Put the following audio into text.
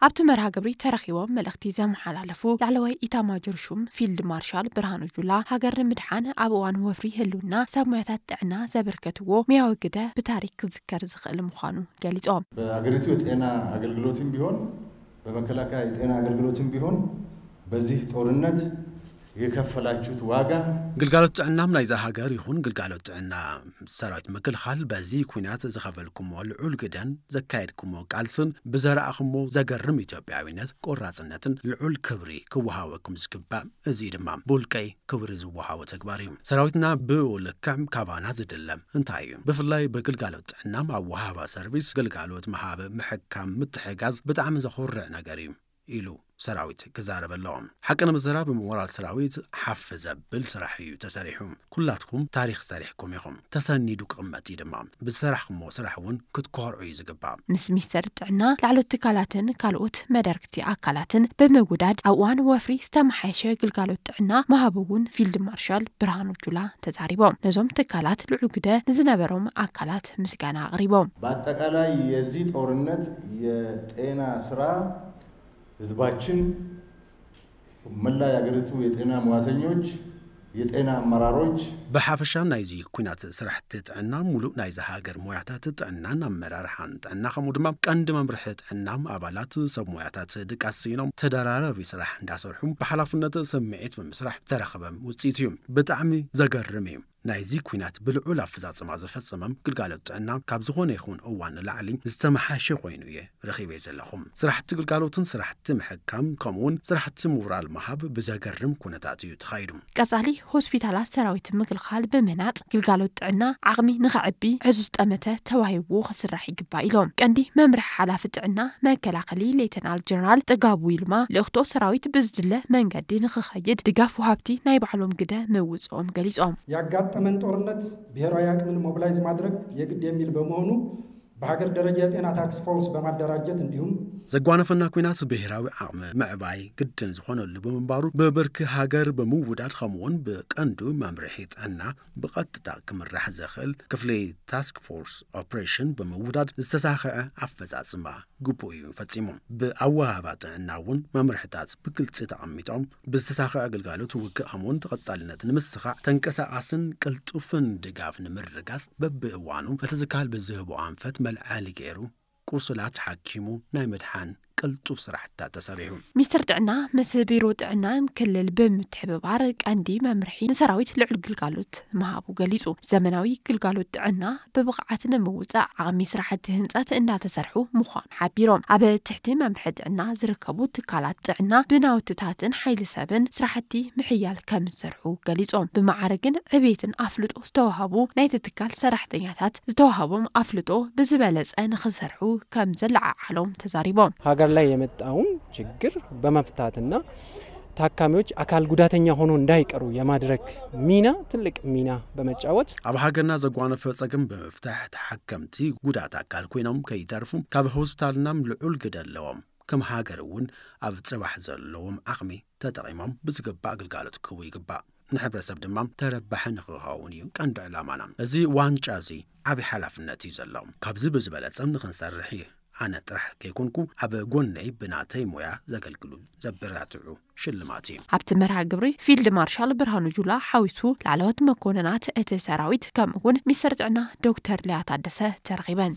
ኣብቲ መርሃ ግብሪ ተረኺቦም መልእኽቲ ዘመሓላለፉ ላዕለዋይ ኢታማጆር ሹም ፊልድ ማርሻል ብርሃኑ ጁላ፣ ሃገር ንምድሓን ኣብ እዋን ወፍሪ ህልውና ሰብ ሞያታት ጥዕና ዘበርከትዎ ሙያዊ ግደ ብታሪክ ክዝከር ዝኽእል ምዃኑ ገሊጾም። በአገሪቱ የጤና አገልግሎትም ቢሆን በመከላከያ የጤና አገልግሎትም ቢሆን በዚህ ጦርነት የከፈላችሁት ዋጋ ግልጋሎት ጥዕናም ናይዛ ሃገር ይኹን ግልጋሎት ጥዕና ሰራዊት ምክልኻል በዚ ኩናት ዝኸፈልኩሞ ልዑል ግደን ዘካየድኩሞ ቃልስን ብዘረኣኹሞ ዘገርም ኢትዮጵያዊነት ቆራፅነትን ልዑል ክብሪ ክወሃበኩም ዝግባእ። እዚ ድማ ብውልቀይ ክብሪ ዝወሃቦ ተግባር እዩ። ሰራዊትና ብኡ ልክዕ ካባና ዝድለም እንታይ እዩ? ብፍላይ ብግልጋሎት ጥዕናም ኣብ ወሃባ ሰርቪስ ግልጋሎት ምሃብ ምሕካም ምትሕጋዝ ብጣዕሚ ዘኹርዕ ነገር እዩ ኢሉ ሰራዊት ክዛረበ ኣለዎ። ሓቂ ንምዝራብ ብሞራል ሰራዊት ሓፍ ዘብል ስራሕ እዩ ተሰሪሑ። ኩላትኩም ታሪክ ሰሪሕኩም ኢኹም። ተሰኒዱ ክቕመጥ እዩ ድማ። ብዝሰራሕኩሞ ስራሕ እውን ክትኮርዑ እዩ ዝግባእ። ምስ ሚኒስተር ጥዕና ላዕሎት ትካላትን ካልኦት መዳርግቲ ኣካላትን ብምውዳድ ኣብ እዋን ወፍሪ ዝተመሓየሸ ግልጋሎት ጥዕና ምሃብ እውን ፊልድ ማርሻል ብርሃኑ ጁላ ተዛሪቦም። ነዞም ትካላት ልዑል ግደ ንዝነበሮም ኣካላት ምስጋና ኣቕሪቦም። በአጠቃላይ የዚህ ጦርነት የጤና ስራ ህዝባችን መላ የአገሪቱ የጤና ሙያተኞች የጤና አመራሮች ብሓፈሻ ናይዚ ኩናት ስራሕቲ ጥዕና ሙሉእ ናይዚ ሃገር ሞያታት ጥዕናን ኣመራርሓን ጥዕና ከምኡ ድማ ቀንዲ መምርሒ ጥዕና ኣባላት ሰብ ሞያታት ድቃስ ስኢኖም ተደራራቢ ስራሕ እንዳሰርሑ ብሓላፍነት ስምዒት ብምስራሕ ዝተረኸበ ውፅኢት እዩ። ብጣዕሚ ዘገርም እዩ። ናይዚ ኩናት ብልዑል ኣፈፃፅማ ዝፈፀመም ግልጋሎት ጥዕና ካብ ዝኾነ ይኹን እዋን ንላዕሊ ዝተመሓሸ ኮይኑ እየ ረኺበ ዘለኹ። ስራሕቲ ግልጋሎትን ስራሕቲ ምሕካም ከምኡውን ስራሕቲ ሞራል ምሃብ ብዘገርም ኩነታት እዩ ተኻይዱ። ቀጻሊ ሆስፒታላት ሰራዊት ምክልኻል ብምህናጽ ግልጋሎት ጥዕና ዓቕሚ ንኸዕቢ ዕዙዝ ጠመተ ተዋሂቡ ክስራሕ ይግባእ ኢሎም። ቀንዲ መምርሒ ሓላፊ ጥዕና መከላኸሊ ሌተናል ጀነራል ጥጋቡ ይልማ ልእኽቶ ሰራዊት ብዝድለ መንገዲ ንኽኸይድ ድጋፍ ወሃብቲ ናይ ባዕሎም ግደ ምውፅኦም ገሊጾም። ያጋጠመን ጦርነት ብሔራዊ አቅምን ሞቢላይዝ ማድረግ የግድ የሚል በመሆኑ በሀገር ደረጃ የጤና ታክስ ፎርስ በማደራጀት እንዲሁም ዘጓነፈና ኩናት ብሔራዊ ዓቕሚ ምዕባይ ግድን ዝኾነሉ ብምንባሩ ብብርኪ ሃገር ብምውዳድ ከምኡውን ብቀንዱ መምርሒ ጥዕና ብቐጥታ ክምራሕ ዘኽእል ክፍሊ ታስክ ፎርስ ኦፕሬሽን ብምውዳድ ዝተሳኸዐ ኣፈፃፅማ ግቡእ እዩ ፈፂሙ። ብኣወሃባ ጥዕና እውን መምርሕታት ብግልፂ ተቐሚጦም ብዝተሳኸዐ ግልጋሎት ውግእ ከምኡውን ተቐፃልነት ንምስኻዕ ተንቀሳቓስን ቅልጡፍን ድጋፍ ንምርጋፅ በብእዋኑ እቲ ዝካል ብዝህቦ ኣንፈት መልዓሊ ገይሩ ቁሱላት ሓኪሙ ናይ ምድሓን ቅልጡፍ ስራሕታት ተሰሪሑ። ሚኒስትር ጥዕና ምስ ቢሮ ጥዕናን ክልል ብምትሕብባር ቀንዲ መምርሒ ንሰራዊት ልዑል ግልጋሎት ምሃቡ ገሊጹ። ዘመናዊ ግልጋሎት ጥዕና ብብቕዓት ንምውጻእ ዓቕሚ ስራሕቲ ህንጸት እንዳተሰርሑ ምዃኑ ሓቢሮም። ኣብ ትሕቲ መምርሒ ጥዕና ዝርከቡ ትካላት ጥዕና ብናውትታትን ሓይሊ ሰብን ስራሕቲ ምሕያል ከም ዝሰርሑ ገሊጾም። ብማዕርግን ዕቤትን ኣፍልጦ ዝተዋህቡ ናይቲ ትካል ሰራሕተኛታት ዝተዋህቦም ኣፍልጦ ብዝበለጸ ንኽሰርሑ ከም ዘለዓዓሎም ተዛሪቦም። ሀገር ላይ የመጣውን ችግር በመፍታትና ታካሚዎች አካል ጉዳተኛ ሆኖ እንዳይቀሩ የማድረግ ሚና ትልቅ ሚና በመጫወት ኣብ ሃገርና ዘጓነፈ ጸገም ብምፍታሕ ተሓከምቲ ጉዳት ኣካል ኮይኖም ከይተርፉ ካብ ሆስፒታልናም ልዑል ግደ ኣለዎም። ከም ሃገር እውን ኣብ ጽባሕ ዘለዎም ዓቕሚ ተጠቒሞም ብዝግባእ ግልጋሎት ክህቡ ይግባእ። ንሕብረተሰብ ድማ ተረባሒ ንኽኸውን እዩ ቀንዲ ዕላማና። እዚ ዋንጫ እዚ ዓብዪ ሓላፍነት እዩ ዘሎ። ካብዚ ብዝበለጸ ንኽንሰርሕ እዩ። ኣነ ጥራሕ ከይኮንኩ ኣብ ጎነይ ብናተይ ሞያ ዘገልግሉ ዘበረታትዑ ሽልማት እዩ። ኣብቲ መርሃ ግብሪ ፊልድ ማርሻል ብርሃኑ ጁላ ሓዊሱ ላዕለዎት መኮንናት እቲ ሰራዊት ከምኡ እውን ሚኒስትር ጥዕና ዶክተር ሊያ ታደሰ ተረኺበን።